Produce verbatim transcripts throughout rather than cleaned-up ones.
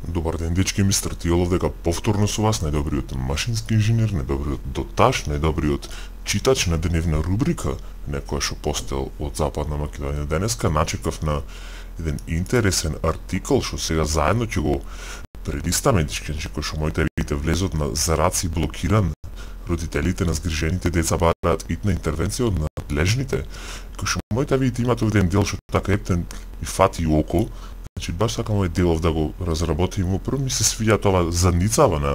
Добар ден, дечки, мистер Тиолов дека повторно со вас, најдобриот машински инженер, најдобриот доташ, најдобриот читач на дневна рубрика, некоја што постел од Западна Македонија. Денеска начекав на еден интересен артикол што сега заедно ќе го прелистаме, дечки, кој што моите видите влезот на зараци блокиран, родителите на згрижените деца бараат итна интервенција од надлежните, кој што моите видите имате овде дел што така ептен и фати око. Значи, баш сакам овој делов да го разработим. Прво ми се свиѓа тоа задницава на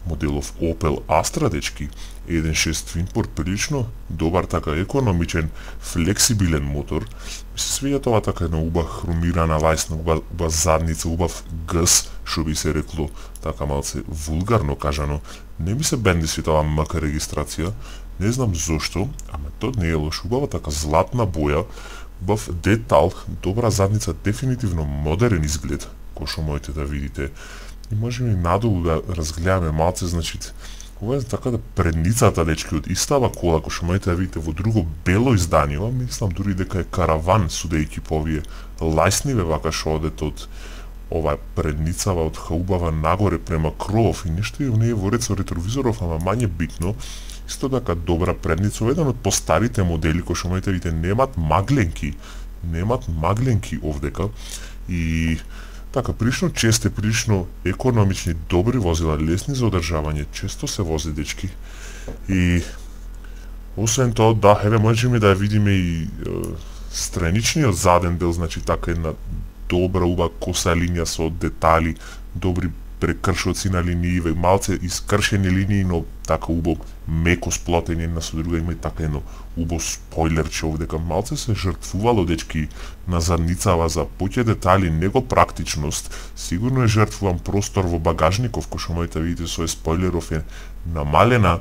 моделов Opel Astra, дечки, еден шест Twin Port, прилично добар, така економичен, флексибилен мотор. Ми се свиѓа тоа така една убава хромирана лајсна, убава, убава задница, убав гъс, што би се рекло, така малце вулгарно кажано. Не ми се бенди си тоа мака регистрација, не знам зошто, ама тоа не е лош, убава така златна боја, убав детал, добра задница, дефинитивно модерен изглед, кој што можете да видите. И можеме и надолу да разгледаме малце, значи, ова е така да предницата, дечки, од истава кола, кој што можете да видите во друго бело издание, мислам дури дека е караван, судејќи по овие лајсниве вака што одат од ова предницава од хаубава нагоре према кровов и нешто и оние во ред со ретровизоров, ама мање битно. Исто така добра предница, еден од постарите модели кои што можете видите немат магленки, немат магленки овдека и така прилично честе, прилично економични, добри возила, лесни за одржавање, често се вози, дечки. И освен тоа, да, еве можеме да видиме и е, страничниот заден дел, значи така една добра уба коса линија со детали, добри прекршоци на линииве, малце искршени линии, но така убо меко сплотени една со друга, има и така едно убо спойлерче овдека. Малце се жртвувало, дечки, на задницава за поќе детали, него практичност. Сигурно е жртвуван простор во багажников, кој што можете видите со спойлеров е намалена,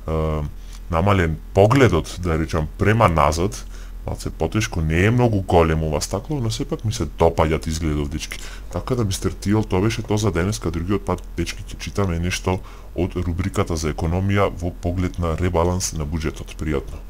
е, намален погледот, да речам, према назад. Малце потешко, не е многу големо ова стакло, но сепак ми се допаѓат изгледов, дечки. Така да, мистер Тиол, тоа беше тоа за денеска, другиот пат, дечки, ќе читаме нешто од рубриката за економија во поглед на ребаланс на буџетот. Пријатно.